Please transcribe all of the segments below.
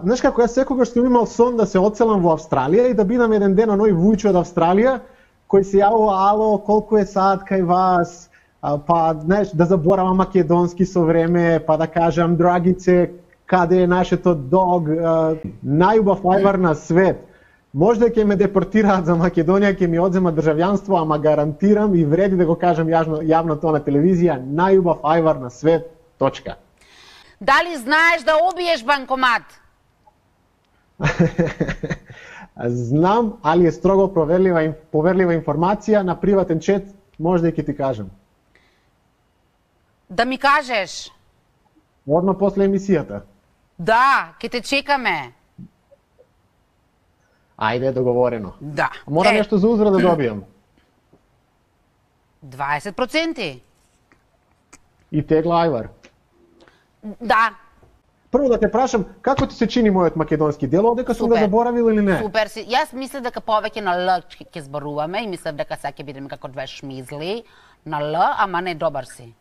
Знаеш како, јас секогаш сум имал сон да се одселам во Австралија и да бидам еден ден оној вујче од Австралија, кој се јавува, ало, колку е сад кај вас, па, знаеш, да заборавам македонски со време, па да кажам, драгице, каде е нашето дог, најубав лајвар на свет. Можда ќе ме депортираат за Македонија, ќе ми одземат државјанство, ама гарантирам и вреди да го кажам јавно тоа на телевизија, најубав ајвар на свет, точка. Дали знаеш да обиеш банкомат? Знам, али е строго поверлива информација, на приватен чет можда и ќе ти кажам. Да ми кажеш? Одма после емисијата. Да, ќе те чекаме. Ајде, договорено. Да. Мора нешто за узра да добијам. 20%. И тегла ајвар. Да. Прво да те прашам, како ти се чини мојот македонски дел, дека сум го заборавил или не? Супер си. Јас мислев дека повеќе на Л ќе зборуваме и мислев дека сега ќе бидеме како две шмизли на Л, ама не, добар си.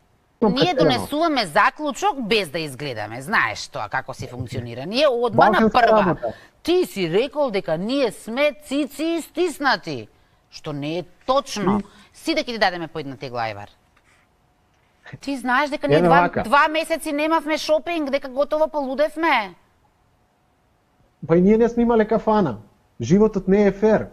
Ние донесуваме заклучок без да изгледаме. Знаеш тоа како си функционира. Ние одма на прва. Ти си рекол дека ние сме цици стиснати, што не е точно. Сите ќе ти дадеме по една тегла ајвар. Ти знаеш дека ние два месеци немавме шопинг, дека готово полудевме. Па и ние не сме имале кафана. Животот не е фер.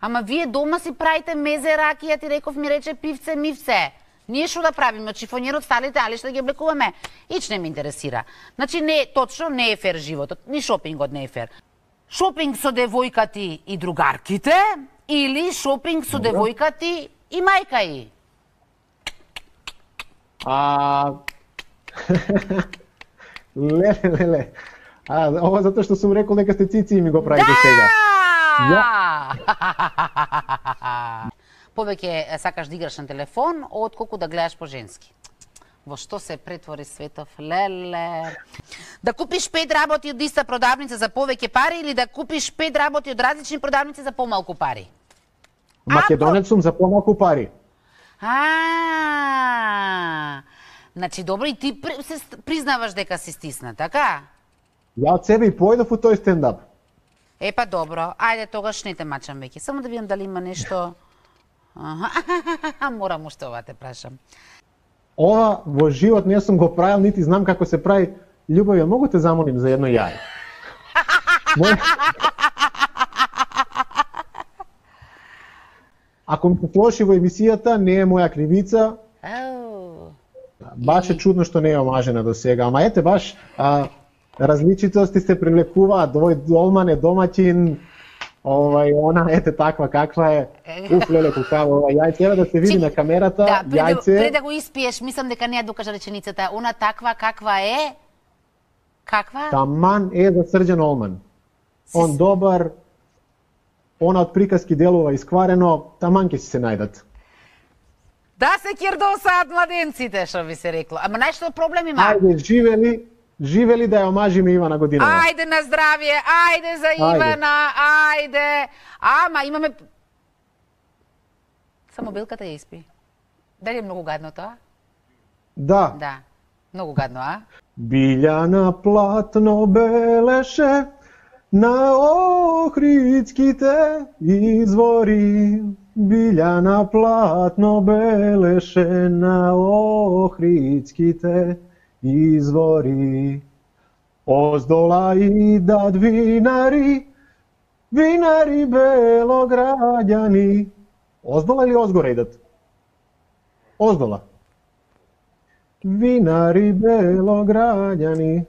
Ама вие дома си правите мезе, ракија, ти реков ми рече пивце, мивце. Ние што да правиме, од шифонерот сталите али што да ги облекуваме? Ич не ме интересира. Значи не точно не е фер животот, ни шопингот не е фер. Шопинг со девојкати и другарките или шопинг со девојкати и мајка и? Леле. Ова затоа што сум рекол дека сте цици и ми го правите сега. Повеќе сакаш да играш на телефон, отколку да гледаш по женски. Во што се претвори светов, леле. Да купиш 5 работи од иста продавница за повеќе пари или да купиш 5 работи од различни продавници за помалку пари? Македонец сум за помалку пари. Значи добро и ти се признаваш дека си стисна, така? Ја од себе и појдов у тој стендап. Епа добро, ајде тогаш не те мачам веќе. Само да видам дали има нешто. Морам уште ова те прашам. Ова во живот не сум го правил, нити знам како се прави. Љубовје, могу те замолим за едно јаје? Ако ми се слоши во емисијата, не е моја кривица. Баш е чудно што не е омажена до сега, ама ете баш различитости се привлекуваат. Овој долман е домаќин, она ете таква каква е. Леле кукава ова јајце, треба да се види на камерата. Јајце. Пред да го испиеш, мислам дека не ја докажа реченицата. Она таква каква е? Каква? Таман е за Срđan Олман. Он добар, она од приказки делува искварено, таман ќе си се најдат. Да се кирдосаат младенците, што би се рекло. Ама нешто проблем има. Ајде, живели да ја омажиме Ивана Годинова. Ајде на здравје, ајде за Ивана, ајде. Ама имаме... Само билката ја испи. Дали е многу гадно тоа? Да. Да, многу гадно, а? Билјана платно белеше на Охридските извори. Билјана платно белеше на Охридските извори. Оздола идат винари, винари белограѓани. Оздола или озгоре идат? Оздола. Винари белограѓани.